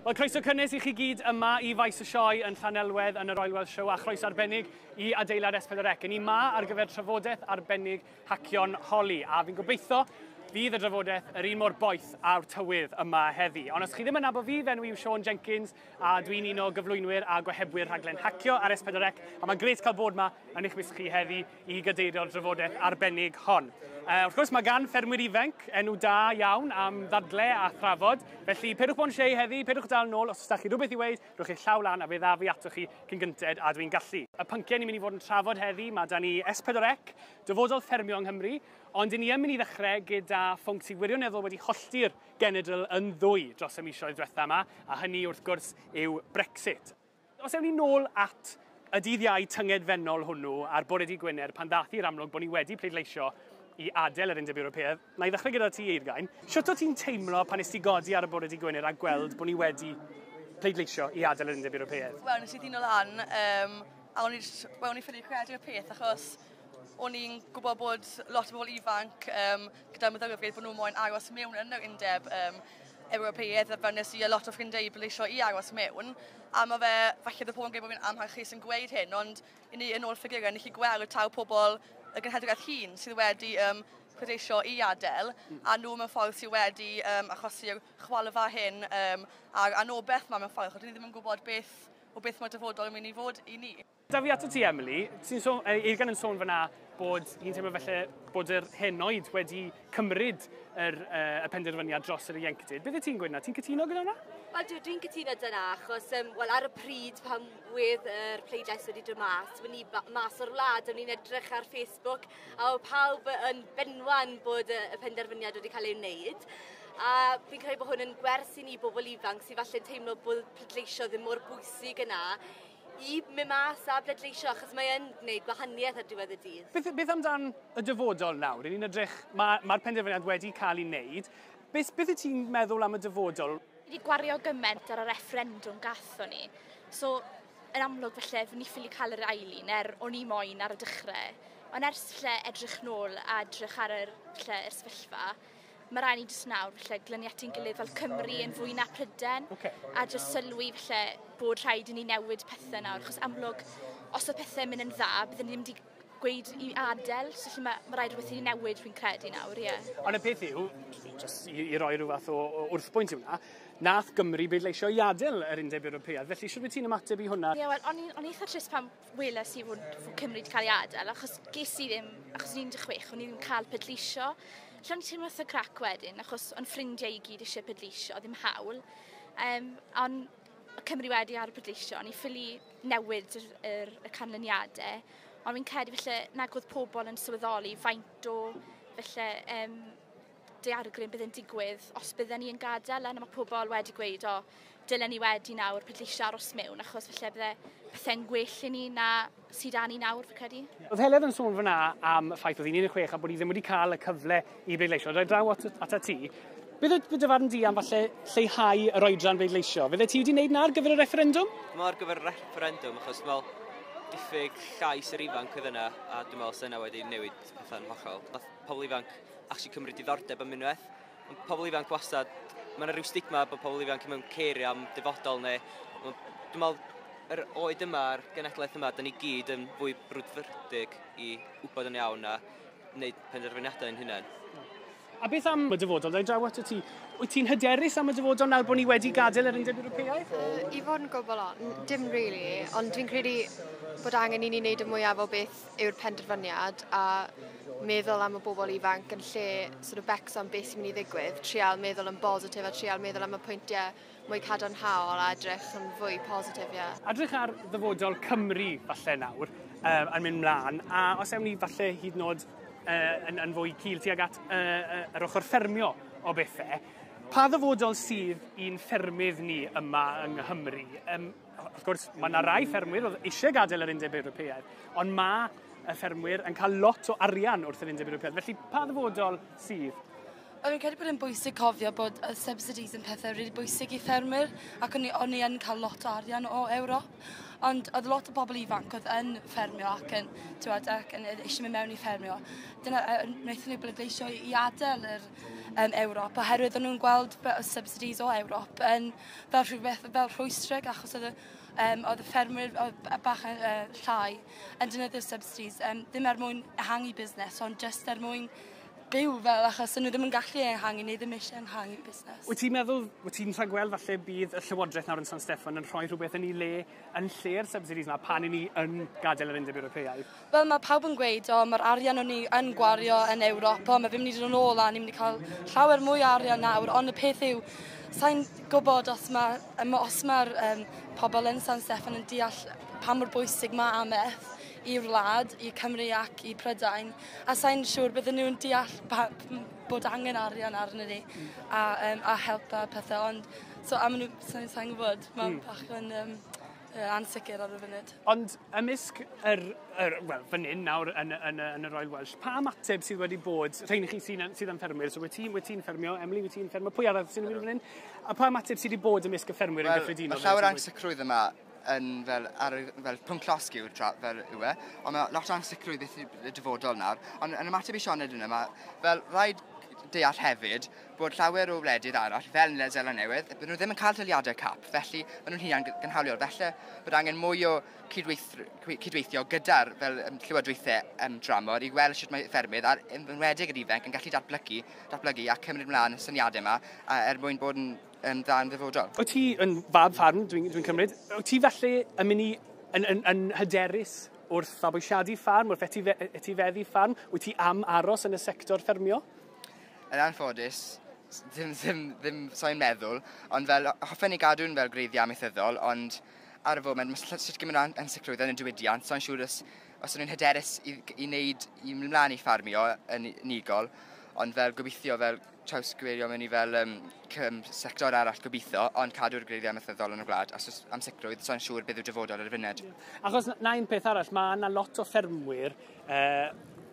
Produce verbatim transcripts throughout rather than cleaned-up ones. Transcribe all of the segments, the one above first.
Wel, croeso cynnes i chi gyd yma i Faes y Sioe yn Llanelwedd yn y Royal Welsh Show a chroeso arbennig i adeilad S pedwar C. Ni ma ar gyfer trafodaeth arbennig Hacio'n Holi, a fi'n gobeithio fydd y drafodaeth yr un mor boeth â'r tywydd yma heddi. Ond os chi ddim yn nabod fi, fy enw i yw Siôn Jenkins a dwi'n un o gyflwynwyr a gohebwyr rhaglen Hacio ar S pedwar C, a mae'n grêt cael bod yma yn eich mysg chi heddi i gadeirio'r drafodaeth arbennig hon. Uh, wrth gwrs, mae gan ffermwyr ifanc enw da iawn am ddadle a thrafod, felly peidiwch bod yn shy heddi, peidiwch dal nôl, os ydych chi rhywbeth i weud, rhowch eich llaw lan a fe ddaf i atoch chi cyn gynted a dwi'n gallu. Y pynciau ni'n mynd i fod yn trafod heddi, mae da ni S pedwar C, dyfodol ffermio yng Nghymru, ond ni yn mynd i ddechrau gyda phwnc sydd wirioneddol wedi hollti'r genedl yn ddwy dros y misoedd diwetha yma, a hynny wrth gwrs yw Brexit. Os ewn ni nôl at y dydd Iau tyngedfennol hwnnw ar bore dydd Gwener pan ddath i'r amlwg bod ni wedi pleidleisio i adael yr Undeb Ewropeaidd, na i ddechrau gyda ti, Eurgain. Shwt o ti'n teimlo pan nes ti godi ar y bore dydd Gwener a gweld bod ni wedi pleidleisio i adael yr Undeb Ewropeaidd? Wel, nes i ddino lan, um, a o'n i, well, o'n i ffili credu'r peth achos o'n i'n gwybod bod lot o bobl ifanc um, gyda meddylfryd bod nhw moyn aros mewn yn yr Undeb um, Ewropeaidd, a fel nes i a lot o ffrindiau i bleidleisio i aros mewn. A mae fe, falle bydd pobl yn gweud bod fi'n amharchus yn gweud hyn, ond i ni yn ôl ffigurau, ni chi gweld taw pobl y genhedlaeth hŷn sydd wedi um, pleidleisio i adael, a nhw mewn ffordd sydd wedi um, achosi'r chwalfa hyn um, a'r anobaith ma mewn ffordd, achos ni ddim yn gwybod beth, o beth mae'r dyfodol yn mynd i fod i ni. Da fi ato ti, Emily. Ti'n sôn, Eurgain yn sôn fyna bod hi'n teimlo felly bod yr henoed wedi cymryd yr, uh, y penderfyniad dros yr ieuenctid. Beth wyt ti'n gweud na? Ti'n cytuno gyda hwnna? Wel, dwi, dwi'n cytuno dyna, achos um, wel, ar y pryd pan wedd yr pleidlais wedi dod mas, o'n i mas o'r wlad, o'n i'n edrych ar Facebook, a oedd pawb yn benwan bod y, y penderfyniad wedi cael ei wneud. A fi'n credu bod hwn yn gwers i ni bobl ifanc sydd falle'n teimlo bod pleidleisio ddim mor bwysig yna, i mynd mas a bleidleisio, achos mae yn gwneud gwahaniaeth ar diwedd y dydd. Beth, beth amdan y dyfodol nawr? Ni'n edrych, mae'r ma penderfyniad wedi cael ei wneud. Beth, beth wyt ti'n meddwl am y dyfodol? Ni wedi gwario gymaint ar y refferendwm gathon ni. So, yn amlwg felly, ni ffili cael yr ail un, er o'n i moyn ar y dechrau. Ond ers felly edrych nôl a edrych ar yr, felly, yr sefyllfa, mae rhaid ni jyst nawr felly glynu at ein gilydd fel Cymru yn fwy na Prydain, okay. A jyst sylwi felly bod rhaid i ni newid pethau nawr, achos amlwg, os oedd pethau'n mynd yn dda, byddwn ni ddim wedi gweud i adael, so felly mae, mae rhaid rhywbeth i ni newid fi'n credu nawr, ie. Yeah. Ond y peth yw, just i, i roi rhyw fath o, o wrthbwynt i hwnna, nath Gymru bleidleisio i adael yr Undeb Ewropeaidd, felly shwt wyt ti'n ymateb i hwnna? Ie, yeah, wel, o'n i'n eitha trist pan weles i fod, fod Cymru wedi cael ei adael, achos ges i ddim, achos o'n i'n un deg chwech, o'n i ddim cael pleidleisio. Felly o'n i'n teimlo eitha crac wedyn, achos o'n ffrindiau i gyd eisiau pleidleisio, ddim hawl. Um, ond Cymru wedi ar y pleidleisio, o'n i ffili newid yr, yr, y canlyniadau. Ond fi'n credu felly nag oedd pobl yn sylweddoli faint o felly, um, daeargryn bydd yn digwydd os bydden ni yn gadael. A mae pobl wedi gweud, o, dylen ni wedi nawr pleidleisio aros mewn, achos felly bydde pethau'n gwell i ni na sydd â ni nawr, fi credu. Oedd Heledd yn sôn fyna am y ffaith oedd hi'n un deg chwech a bod hi ddim wedi cael y cyfle i bleidleisio. Rhaid draw at, at ti. Beth oedd dy farn di am falle lleihau yr oedran bleidleisio? Fydde ti wedi wneud na ar gyfer y refferendwm? Dwi'n meddwl ar gyfer y refferendwm, achos dwi'n meddwl diffyg llais yr ifanc oedd yna, a dwi'n meddwl sy'n wedi newid pethau'n hollol. Nath pobl ifanc actually cymryd diddordeb am unwaith. Ond pobl ifanc wastad, mae yna rhyw stigma bod pobl ifanc mewn cerio am dyfodol neu... Dwi'n meddwl yr oed yma, yr genedlaeth yma, da ni gyd yn fwy brwdfrydig i wybod yn iawn a wneud penderfyniadau yn hunain. A beth am y dyfodol? Da i draw ato ti. Wyt ti'n hyderus am y dyfodol nawr bod ni wedi gadael yr Undeb Ewropeaidd? Uh, I fod yn gwbl on, dim really, ond dwi'n credu bod angen i ni wneud y mwyaf o beth yw'r penderfyniad a meddwl am y bobl ifanc yn lle sort of becso am beth sy'n mynd i ddigwydd, trial meddwl yn bositif a trial meddwl am y pwyntiau mwy cadarnhaol a edrych yn fwy positif, ie. Yeah. Edrych ar ddyfodol Cymru falle nawr, um, yn mynd mlaen, a os ewn ni falle hyd yn oed uh, yn, yn fwy cul tuag at uh, uh, yr ochr ffermio o bethau, pa ddyfodol sydd i'n ffermydd ni yma yng Nghymru? Um, wrth gwrs, mae yna rai ffermwyr oedd eisiau gadael yr Undeb Ewropeaidd, ond mae y ffermwyr yn cael lot o arian wrth yr Undeb Ewropeaidd. Felly, pa ddyfodol sydd? Fi'n credu bod e'n bwysig cofio bod y subsidies yn pethau rili bwysig i ffermwyr, ac o'n i, o'n i yn cael lot o arian o Ewrop. Ond oedd lot o bobl ifanc oedd yn ffermio ac yn, tywed, ac yn eisiau mynd mewn i ffermio. Dyna, wnaethon nhw bleidleisio i adael yr, um, Ewrop, oherwydd o'n nhw'n gweld y subsidies o Ewrop yn fel rhywbeth fel rhwystreg, achos oedd y, um, oedd y ffermwyr bach uh, llai yn defnyddio'r subsidies, um, ddim er mwyn ehangu busnes, ond just er mwyn byw fel, achos nhw ddim yn gallu ehangu neu ddim eisiau ehangu busnes. Wyt ti'n meddwl, wyt ti'n rhagweld falle bydd y Llywodraeth nawr yn San Steffan yn rhoi rhywbeth yn ei le yn lle'r subsidies yma pan i ni yn gadael yr Undeb Ewropeaidd? Wel, mae pawb yn gweud, o, mae'r arian o'n ni yn gwario yn Ewrop, o, mae fe'n mynd i dod yn ôl a ni'n mynd i cael llawer mwy o arian nawr, ond y peth yw, sa'n gwybod os mae'r os mae'r um, pobl yn San Steffan yn deall pa mor bwysig mae amaeth i'r wlad, i Cymru ac i Prydain, a sa'n siŵr bydden nhw'n deall bod angen arian arnyn ni a, um, a help a pethau, ond so, a maen nhw, sa'n sa gwybod, mae'n mm. bach yn um, ansicr ar y funud. Ond ymysg yr, yr wel, fan hyn nawr yn, yn, yn y Royal Welsh, pa ymateb sydd wedi bod, rhain i chi sy'n, sydd yn ffermwyr, so wyt ti'n wyt ti'n ffermio, Emily, wyt ti'n ffermio, pwy arall sy'n mynd fan hyn? A pa ymateb sydd wedi bod ymysg y ffermwyr well, yn gyffredinol? Mae llawer ansicrwydd yma yn fel, ar, fel pwnc llosg yw'r tra, fel yw e, ond mae lot o ansicrwydd beth y dyfodol nawr. Ond yn ymateb i Sioned yna, mae fel rhaid deall hefyd bod llawer o wledydd arall, fel Seland Newydd, byd nhw ddim yn cael taliadau C A P, felly maen nhw'n hunan gynhaliol. Felly bod angen mwy o cydweithio gyda'r fel um, llywodraethau um, dramor i weld sut mae ffermydd, a'r enwedig yr ifanc, yn gallu datblygu, datblygu a cymryd ymlaen y syniadau yma a, er mwyn bod yn, yn dda yn ddyfodol. Wyt ti yn fab ffarm, dwi'n dwi cymryd, wyt ti felly yn mynd i yn, yn, yn hyderus wrth fabwysiadu ffarm, wrth etifeddu ffarm? Wyt ti am aros yn y sector ffermio? Yn anffodus, ddim, ddim, ddim so'n meddwl, ond fel, hoffen ni gadw'n fel gwreiddiau amaethyddol, ond ar y foment, mae sut gymaint o ansicrwydd yn y diwydiant, so'n siŵr os, os nhw'n hyderus i, i wneud, i mynd mlaen i ffarmio yn unigol, ond fel gobeithio fel trawsgyfeirio mewn i fel um, sector arall gobeithio, ond cadw'r gwreiddiau amaethyddol yn y gwlad, os oes ansicrwydd, so'n siŵr beth yw dyfodol ar y funud. Achos na un peth arall, mae yna lot o ffermwyr, uh,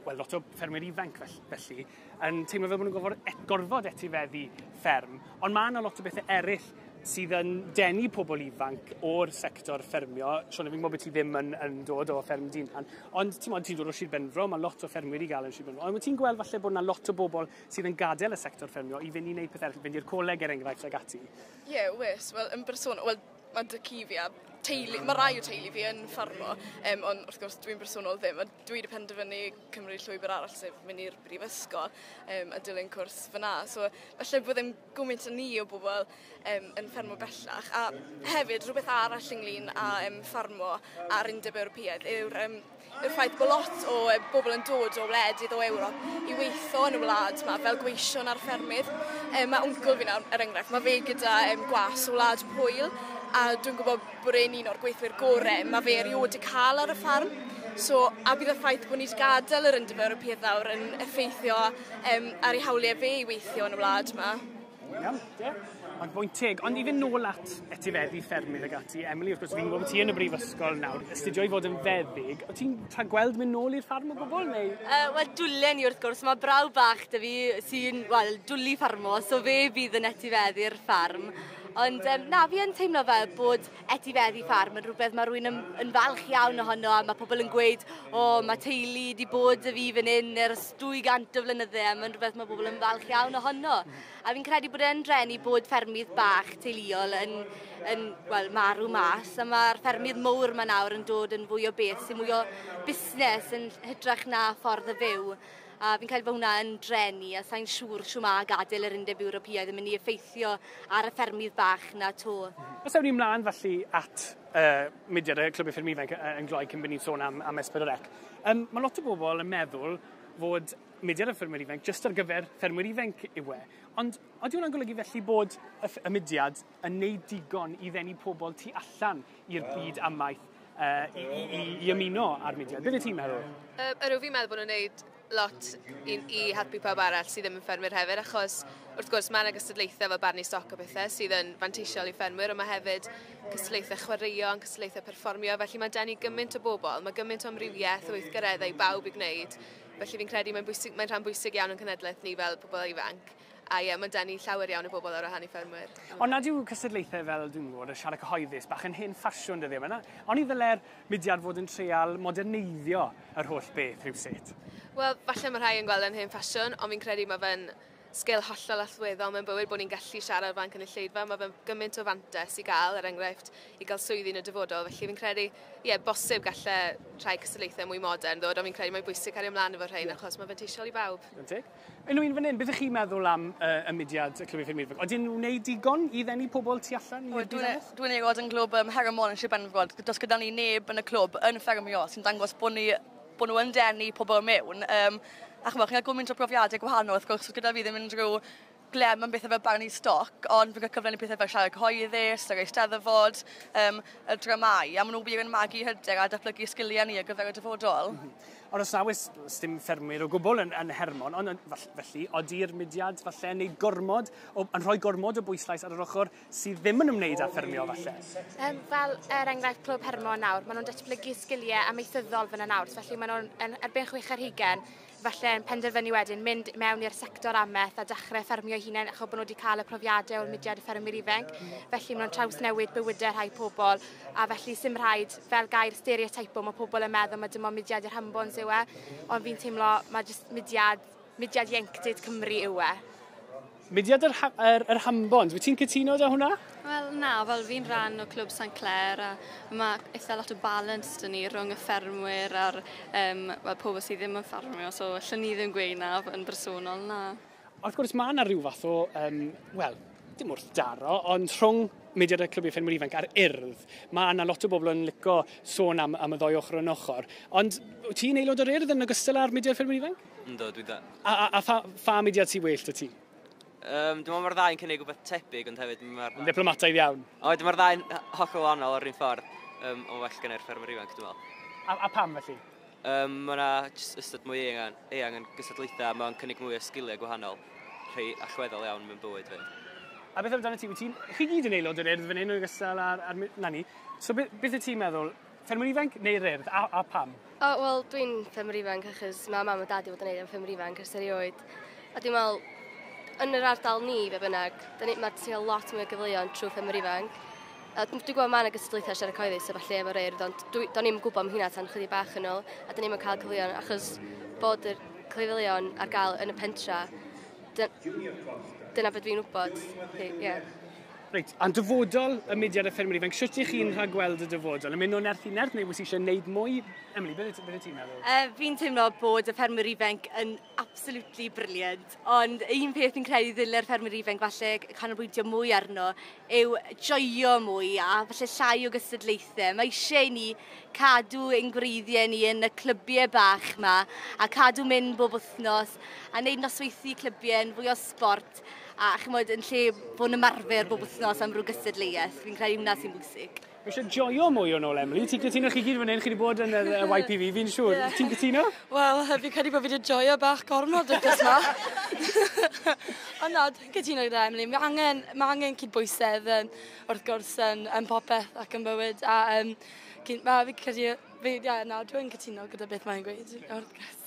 wel, lot o ffermwyr ifanc felly, yn teimlo fel bod nhw'n gorfod, et, gorfod etifeddu fferm, ond mae yna lot o bethau eraill sydd yn denu pobl ifanc o'r sector ffermio. Siôn, fi'n gwybod bod ti ddim yn, yn dod o fferm Dinan, ond ti'n ti'n dod o Sir Benfro, mae lot o ffermwyr i gael yn Sir Benfro. Ond ti'n gweld falle bod yna lot o bobl sydd yn gadael y sector ffermio i fynd i wneud pethau eraill, fynd i'r coleg er enghraifft ag ati? Ie, yeah, wys. Wel, yn bersonol, wel, mae tad-cu fi a teulu, mae rai o teulu fi yn ffarmo, um, ond wrth gwrs dwi'n bersonol ddim, a dwi wedi penderfynu cymryd llwybr arall, sef mynd i'r brifysgol um, a dilyn cwrs fyna. So falle bod ddim gymaint o ni o bobl um, yn ffermo bellach. A hefyd, rhywbeth arall ynglyn â um, ffarmo a'r Undeb Ewropeaidd yw'r um, yw'r ffaith bod lot o bobl yn dod o wledydd o Ewrop i weithio yn y wlad yma fel gweision ar ffermydd. Um, mae wncl fi nawr, er enghraifft, mae fe gyda um, gwas o wlad Pwyl, a dwi'n gwybod bod e'n un o'r gweithwyr gorau mae fe erioed wedi cael ar y ffarm. So, a bydd y ffaith bod ni wedi gadael yr Undeb Ewropeaidd nawr yn effeithio um, ar ei hawliau fe i weithio yn y wlad yma. Iawn, ie. Mae'n bwynt teg. Ond i fynd nôl at etifeddu ffermydd ag ati, Emily, wrth gwrs, fi'n gwybod bod ti yn y brifysgol nawr, astudio i fod yn feddyg. O ti'n gweld mynd nôl i'r ffarm o gwbl, neu? Uh, Wel, dwlen i wrth gwrs. Mae brawd bach 'da fi sy'n, wel, dwlu ffarmo, so fe fydd yn etifeddu'r ffarm. Ond um, na, fi yn teimlo fel bod etifeddu ffarm yn rhywbeth mae rhywun yn, yn falch iawn ohono, a mae pobl yn gweud, o, mae teulu wedi bod 'da fi fan hyn ers dwy gant o flynydde, a mae'n rhywbeth mae pobl yn falch iawn ohono. A fi'n credu bod e'n drueni bod ffermydd bach teuluol yn, yn well, marw mas, a mae'r ffermydd mowr yma nawr yn dod yn fwy o beth sy'n mwy o busnes yn hytrach na ffordd o fyw. A fi'n credu bod hwnna yn drueni, a sa'n siŵr shwd mae gadael yr Undeb Ewropeaidd yn mynd i effeithio ar y ffermydd bach na 'to. Os ewn ni ymlaen felly at uh, mudiad y Clwb Fferm Ifanc yn gloi cyn bod ni'n sôn am, am S pedwar C. Um, mae lot o bobl yn meddwl fod mudiad y ffermwyr ifanc jyst ar gyfer ffermwyr ifanc yw e. Ond ydy hwnna'n golygu felly bod y, y mudiad yn neud digon i ddenu pobl tu allan i'r byd amaeth uh, i, i, i, i ymuno â'r mudiad? Beth wyt ti'n meddwl? Uh, ydw, fi'n meddwl bod nhw'n neud lot i, i helpu pawb arall sydd ddim yn ffermwyr hefyd, achos wrth gwrs mae yna gystadlaethau fel barnu stoc o bethau sydd yn fanteisiol i ffermwyr, ond mae hefyd cystadlaethau chwaraeon, cystadlaethau perfformio, felly mae denu gymaint o bobl, mae gymaint o amrywiaeth o weithgareddau i bawb i gwneud, felly fi'n credu mae'n bwysig, mae'n rhan bwysig iawn yn cenedlaeth ni fel pobl ifanc. A ie, mae'n denu llawer iawn o bobl ar wahân i ffermwyr. Ond nad yw cystadlaethau fel, dwi'n gwybod, y siarad cyhoeddus bach yn hen ffasiwn dyddiau yma? Ond i ddyle'r mudiad fod yn treial moderneiddio yr holl beth rhywsut? Wel, falle mae rhai yn gweld yn hen ffasiwn, ond fi'n credu mae fe'n sgil hollol allweddol mewn bywyd bod ni'n gallu siarad o flaen cynulleidfa. Mae fe'n gymaint o fantais i gael, er enghraifft, i gael swyddi yn y dyfodol. Felly fi'n credu, ie, yeah, bosib gallai rhai cystadlaethau mwy modern ddod, ond fi'n credu mae'n bwysig cario ymlaen efo rhain, yeah, achos mae'n fanteisiol i bawb. Unrhyw un fan hyn, beth ych chi'n meddwl am uh, y mudiad y Clwb Ffermwyr Ifanc? Oedden nhw'n wneud digon i ddenu pobl tu allan i'r byd? Dwi'n aelod yn glwb um, Hermon yn Sir Benfro. Does gyda ni neb yn y clwb yn ffermio sy'n dangos bod, ni, bod nhw yn denu pobl mewn. Um, a chymod, chi'n cael gymaint o brofiadau gwahanol, wrth gwrs, gyda fi ddim unrhyw glem am bethau fel barnu stoc, ond fi'n cael cyfle i pethau fel siarad cyhoeddus, yr eisteddfod, um, y dramau, a maen nhw wir yn magu hyder a datblygu sgiliau ni ar gyfer y dyfodol. Mm -hmm. Ond os na oes dim ffermwyr o gwbl yn, yn Hermon, ond felly, oedi'r mudiad falle yn neud gormod, o, yn rhoi gormod o bwyslais ar yr ochr sydd ddim yn ymwneud â ffermio falle? Um, fel er enghraifft Clwb Hermon nawr, maen nhw'n datblygu sgiliau amaethyddol fyna nawr, felly maen nhw'n erbyn chwech ar hugain, falle yn penderfynu wedyn mynd mewn i'r sector amaeth a dechrau ffermio hunain achos bod nhw wedi cael y profiadau o'r mudiad y ffermwyr ifanc. Felly maen nhw'n trawsnewid bywydau rhai pobl, a felly sim rhaid fel gair stereotypo, mae pobl yn meddwl mae dim ond mudiad i'r hambons yw e, ond fi'n teimlo mae jyst mudiad, mudiad ieuenctid Cymru yw e. Mudiad yr, yr, yr hambons, wyt ti'n cytuno da hwnna? Wel na, fel fi'n rhan o Clwb Saint Clair a mae eitha lot o balance dyn ni rhwng y ffermwyr a'r um, well, pobl sydd ddim yn ffermio, so allwn ni ddim gweud na yn bersonol, na. Wrth gwrs mae yna rhyw fath o, um, wel, dim wrth daro, ond rhwng mudiad y Clwb Ffermwyr Ifanc a'r Urdd, mae yna lot o bobl yn licio sôn am, am y ddoi ochr yn ochr. Ond ti'n aelod o'r Urdd yn ogystal â'r mudiad Ffermwyr Ifanc? Ynddo, dwi da. A, a, a pha, pha mudiad sy'n well 'da ti? Um, dwi'n meddwl mae'r ddau'n cynnig rhywbeth tebyg, ond hefyd mae'r... Yn diplomataidd iawn. O, dwi'n mae'r ddau'n hollol wahanol o'r un ffordd, um, ond well gen i'r ffermwyr ifanc, dwi'n meddwl. A, a pam felly? Um, mae yna ystod mwy eang, eang yn gystadlaethau, mae'n cynnig mwy o sgiliau gwahanol, rhai allweddol iawn mewn bywyd fi. A beth amdano ti? Wyt ti'n... Chi gyd yn aelod o'r Urdd fan hyn yn ogystal â'r... Ar, na ni. So beth, beth wyt ti'n meddwl? Ffermwyr ifanc neu'r Urdd? A, a pam? O, wel, dwi'n ffermwyr ifanc achos mae mam a dad i fod yn neud am ffermwyr ifanc ers erioed. A dwi'n meddwl, yn yr ardal ni, fe bynnag, mae ti'n cael lot mwy o gyfleoedd trwy ffermwyr ifanc. A dwi'n gwybod mae yna gystadlaethau siarad cyhoeddus a falle efo'r Urdd, ond do'n i'm gwybod am hynna tan chydig bach yn ôl, a do'n i'm yn cael cyfleoedd achos bod yr cyfleoedd ar gael yn y pentra, dyna beth dwi'n wybod. Yeah. Reit, a'n dyfodol y mudiad y ffermwyr ifanc, sut ych chi'n rhagweld y dyfodol? Yn mynd o nerth i nerth neu wyt ti eisiau gwneud mwy? Emily, beth wyt ti'n meddwl? Uh, fi'n teimlo bod y ffermwyr ifanc yn absolutely brilliant, ond un peth fi'n credu ddylai'r ffermwyr ifanc falle canolbwyntio mwy arno yw joio mwy a falle llai o gystadlaethau. Mae eisiau ni cadw ein gwreiddiau ni yn y clybiau bach yma a cadw mynd bob wythnos a wneud nosweithiau clybiau yn fwy o sport a chymod yn lle bod yn ymarfer bob wythnos am rhyw gystadleuaeth. Fi'n credu hwnna sy'n bwysig. Mae eisiau joio mwy o'n ôl, Emily. Ti'n cytuno chi gyd fan hyn? Chi wedi bod yn y Y P V, fi'n siŵr. Yeah. Ti'n cytuno? Wel, fi'n credu bod fi wedi joio bach gormod wrth yma. Ond na, dwi'n cytuno gyda Emily. Mae angen, mae angen cydbwysedd yn, wrth gwrs yn, yn popeth ac yn bywyd. A um, ma, fi'n credu, fi, yeah, na, dwi'n cytuno gyda beth mae'n gweud. Wrth gwrs.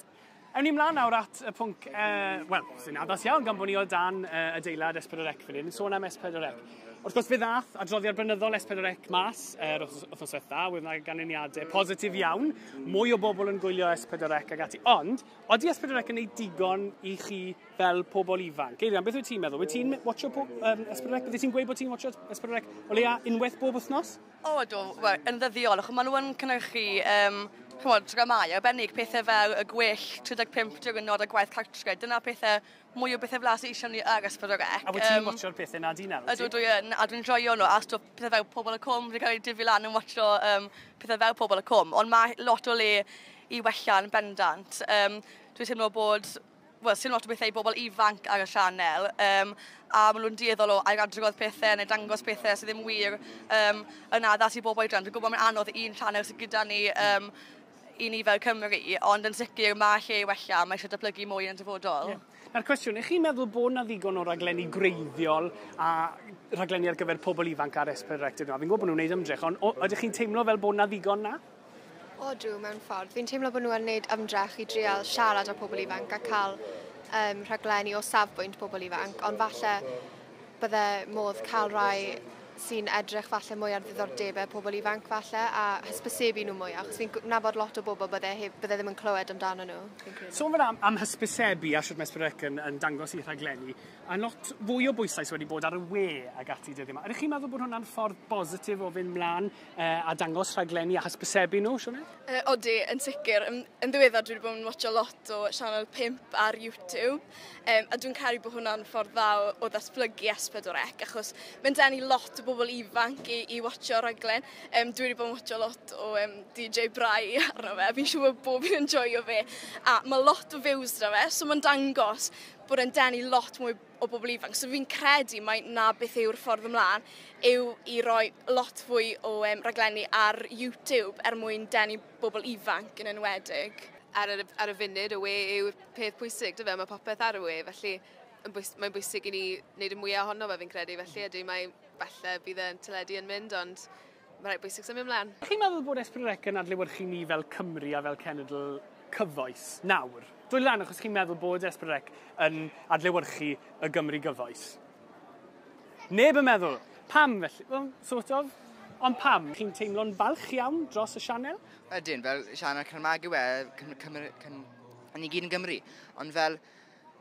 Ewn ni mlaen nawr at y pwnc, uh, wel, sy'n addas iawn gan bod ni o dan uh, adeilad S pedwar C fan hyn, sôn am S pedwar C. Wrth gwrs fe ddath adroddiad blynyddol S pedwar C mas yr uh, wythnos diwetha, wedd yna ganlyniadau positif iawn, mwy o bobl yn gwylio S pedwar C ac ati. Ond, oeddi S pedwar C yn gwneud digon i chi fel pobl ifanc? Eirian, beth wyt ti'n meddwl? Wyt ti'n watcho um, S pedwar C? Bydde ti'n gweud bod ti'n watcho S pedwar C o leia unwaith bob wythnos? O, ydw, well, yn ddyddiol, achos maen nhw yn cynhyrchu um, chymod, dramau arbennig, pethau fel y gwell tri deg pump diwrnod a gwaith cartre. Dyna pethau, mwy o bethau fel sydd eisiau ni ar S pedwar C. A wyt ti'n um, watcho'r pethau na di nawr? Ydw, dwi yn, a dwi'n joio nhw, a stwff pethau fel Pobol y Cwm, dwi'n cael ei difu lan yn watcho um, pethau fel Pobol y Cwm, ond mae lot o le i wella yn bendant. Um, dwi'n teimlo bod, wel, sy'n lot o bethau i bobl ifanc ar y sianel, um, a maen nhw'n dueddol o ailadrodd pethau neu dangos pethau sydd ddim wir um, yn addas i bobl oedran. Dwi'n gwybod mae'n anodd un sianel sydd gyda ni um, i ni fel Cymru, ond yn sicr mae lle i wella, mae eisiau datblygu mwy yn dyfodol. Yeah. Na'r cwestiwn, ych chi'n meddwl bod na ddigon o raglenni gwreiddiol a raglenni ar gyfer pobl ifanc ar S pedwar C? Fi'n gwybod bod nhw'n gwneud ymdrech, ond ydych chi'n teimlo fel bod na ddigon na? Odw, mewn ffordd. Fi'n teimlo bod nhw yn gwneud ymdrech i drial siarad â pobl ifanc a cael um, rhaglenni o safbwynt pobl ifanc, ond falle bydde modd cael rhai sy'n edrych falle mwy ar ddiddordebau pobl ifanc falle a hysbysebu nhw mwy, achos fi'n nabod lot o bobl bydde, bydde ddim yn clywed amdano nhw. Sôn fan am, am hysbysebu a shwt mae S pedwar C yn, yn dangos i rhaglenni, a lot fwy o bwyslais wedi bod ar y we ag ati dyddiau yma. Ydych chi'n meddwl bod hwnna'n ffordd bositif o fynd mlaen eh, a dangos rhaglenni a hysbysebu nhw, Sioned? Uh, odi, yn sicr. Yn, yn ddiweddar dwi wedi bod yn watcho lot o Channel pump ar YouTube, um, a dwi'n credu bod hwnna'n ffordd dda o, o ddatblygu S pedwar C, achos mae'n denu lot o bobl ifanc i, i watcho rhaglen. Um, dwi wedi bod yn watcho lot o um, D J Brai arno fe, a fi'n siŵr bod bob un yn joio fe. A mae lot o views 'da fe, so mae'n dangos bod e'n denu lot mwy o bobl ifanc. So fi'n credu mai na beth yw'r ffordd ymlaen yw i roi lot fwy o um, rhaglenni ar YouTube er mwyn denu bobl ifanc yn enwedig. Ar y, ar y funud, y we yw'r peth pwysig, dyfe? Mae popeth ar y we, felly mae'n bwysig i ni wneud y mwyaf ohono fe, fi'n credu. Felly ydy, mae falle bydd yn teledu yn mynd, ond mae rhaid bwysig symud ymlaen. Chi'n meddwl bod S pedwar C yn adlewyrchu ni fel Cymru a fel cenedl cyfoes nawr? Dwy lan achos chi'n meddwl bod S pedwar C yn adlewyrchu y Gymru gyfoes? Neb yn meddwl. Pam felly? Well, sort of. Ond pam? Chi'n teimlo'n falch iawn dros y sianel? Ydyn, fel sianel Cymraeg yw e, Cymru, Cym, ni gyd yn Gymru. Ond fel,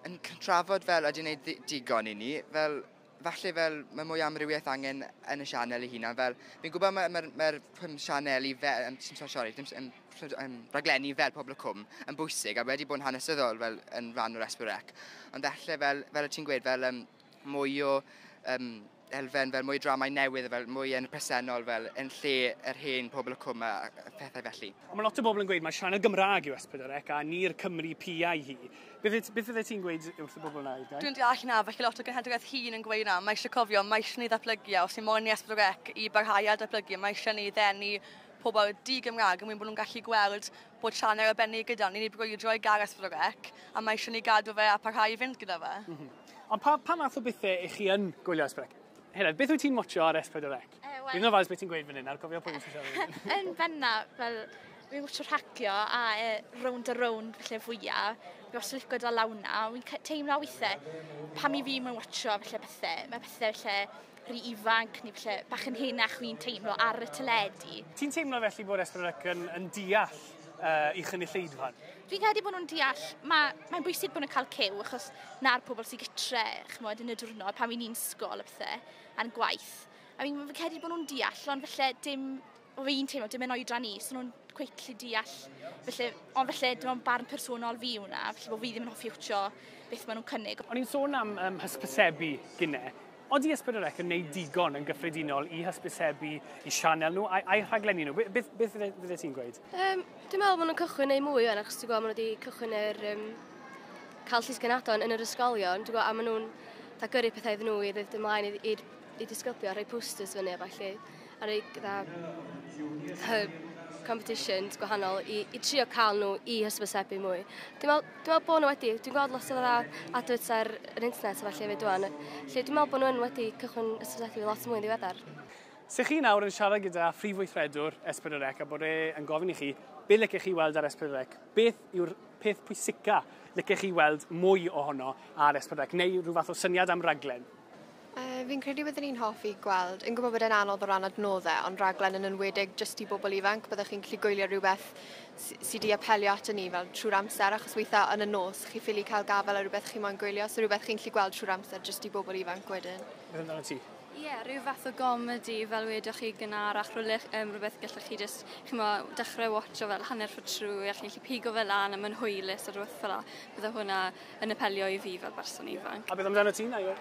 yn trafod fel ydy'n gwneud digon i ni, fel, falle fel mae mwy amrywiaeth angen yn y sianel ei hunan. Fel, fi'n gwybod mae'r ma, ma, ma sianeli fel, um, sorry, dim, um, um, raglenni fel Pobl y Cwm yn bwysig a wedi bod yn hanesyddol fel yn rhan o'r S pedwar C. Ond falle fel, fel y ti'n gweud, fel um, mwy o um, elfen, fel mwy dramau newydd, fel mwy yn presennol, fel yn lle yr hen Pobl y Cwm a pethau felly. Ond mae lot o bobl yn gweud mae sianel Gymraeg yw S pedwar C a ni'r Cymru piau hi. Beth, beth fydde ti'n gweud wrth y bobl yna? Dwi'n deall na, felly lot o genhedlaeth hŷn yn gweud na, mae eisiau cofio, mae eisiau ni ddatblygu, a os ni'n moyn i S pedwar C i barhau a datblygu, mae eisiau ni ddenu pobl di-Gymraeg yn mwyn bod nhw'n gallu gweld bod sianel arbennig gyda ni, ni'n brwydro i gael S pedwar C, a mae eisiau ni gadw fe a parhau i fynd gyda fe. Mm -hmm. Ond pa, pa math o bethau i chi yn gwylio S pedwar C? Heledd, beth wyt ti'n watcho ar S pedwar C? Uh, well, Fi'n ofalus beth ti'n gweud fan hyn, ar cofio pwy ti'n siarad. Yn benna, fel, fi'n watcho rhagio a e, rownd a rownd felly fwyaf. Fi os licio gyda lawna, fi'n teimlo weithiau, pam i fi mae'n watcho felly bethau, mae pethau felly rhy ifanc neu felly bach yn henach fi'n teimlo ar y teledu. Ti'n teimlo felly bod S pedwar C yn, yn deall uh, i chynulleidfa? Fi'n credu bod nhw'n deall, mae'n mae bwysig bod nhw'n cael cyw, achos na'r pobl sy'n gytre, chymod, yn y diwrnod, pan fi'n ysgol a pethau, a'n gwaith. A fi'n fi credu bod nhw'n deall, ond felly dim, o fi'n teimlo, dim yn oedran ni, so nhw'n cweit gallu deall. Felly, ond felly, dim ond barn personol fi hwnna, felly bod fi ddim yn hoffi wtio beth maen nhw'n cynnig. O'n i'n sôn am um, hysbysebu gynne. Odi S pedwar C yn gwneud digon yn gyffredinol i hysbysebu i sianel nhw a'i rhaglenni nhw? Beth, beth fydde ti'n gweud? Um, dwi'n meddwl bod nhw'n cychwyn neu mwy o'n, achos dwi'n gwybod maen nhw wedi cychwyn yr um, cael llysgenhadon yn yr ysgolion, dwi'n gwybod, a maen nhw'n da gyrru pethau iddyn nhw i ddod ymlaen i, i, i disgyblion, rhoi posters fyny a falle, a rhoi gyda competitions gwahanol i, i trio cael nhw i hysbysebu mwy. Dwi'n meddwl, dwi'n meddwl bod nhw wedi, dwi'n gweld lot o adverts ar yr internet a falle hefyd dwan, lle dwi'n meddwl bod nhw yn wedi cychwyn hysbysebu lot mwy yn ddiweddar. Se chi nawr yn siarad gyda phrif weithredwr S pedwar C a bod e yn gofyn i chi, be licech chi weld ar S pedwar C? Beth yw'r peth pwysica licech chi weld mwy ohono ar S pedwar C, neu rhyw fath o syniad am raglen? Uh, fi'n credu byddwn ni'n hoffi gweld, yn gwybod bod e'n anodd o ran adnoddau, ond raglen yn enwedig jyst i bobl ifanc, byddwch chi'n gallu gwylio rhywbeth sydd wedi apelio ato ni fel trwy'r amser, achos weithiau yn y nos chi ffili cael gafael ar rhywbeth chi moyn gwylio, so rhywbeth chi'n gallu gweld trwy'r amser jyst i bobl ifanc wedyn. Beth amdano ti? Ie, yeah, rhyw fath o gomedi fel wedoch chi gynharach, rhywle, um, rhywbeth gallech chi jyst, chimo, dechrau watcho fel hanner ffordd trwy, a chi'n gallu pigo fel lan a mae'n hwylus a rhywbeth fel 'na. Bydde hwnna yn apelio i fi fel berson ifanc. A beth amdano ti, Naio?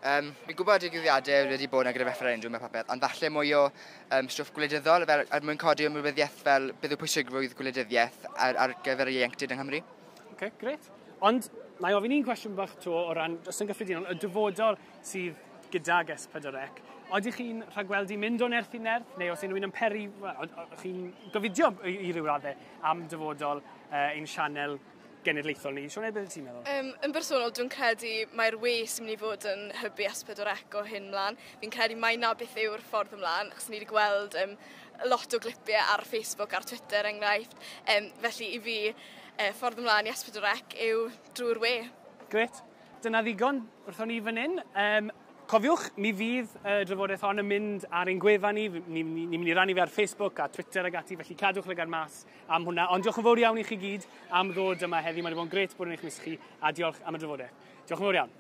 Um, fi'n gwybod digwyddiadau wedi bod yna gyda referendwm a popeth, ond falle mwy o um, stwff gwleidyddol, fel, er mwyn codi ymwybyddiaeth fel beth yw pwysigrwydd gwleidyddiaeth ar, ar gyfer y ieuenctid yng Nghymru. Oce, okay, grêt. Ond, na i ofyn un cwestiwn bach to o ran, jyst yn gyffredinol, y dyfodol sydd gydag S pedwar C. Oedych chi'n rhagweld i mynd o nerth i nerth, neu os unrhyw un yn peri, well, chi'n gofidio i, i ryw raddau am dyfodol uh, ein sianel genedlaethol ni? Sioned, beth ti'n meddwl? Um, yn bersonol, dwi'n credu mae'r we sy'n mynd i fod yn hybu S pedwar C o hyn mlaen. Fi'n credu mai na beth yw'r ffordd ymlaen, achos ni wedi gweld um, lot o glipiau ar Facebook, ar Twitter enghraifft. Um, felly i fi, uh, ffordd ymlaen i S pedwar C yw drwy'r we. Grêt. Dyna ddigon wrthon ni fan hyn. Um, Cofiwch, mi fydd y drafodaeth hon yn mynd ar ein gwefan ni, ni'n ni, ni mynd i rannu fe ar Facebook a Twitter ag ati, felly cadwch lygad mas am hwnna. Ond diolch yn fawr iawn i chi gyd am ddod yma heddi, mae wedi bod yn grêt bod yn eich mysg chi, a diolch am y drafodaeth. Diolch yn fawr iawn.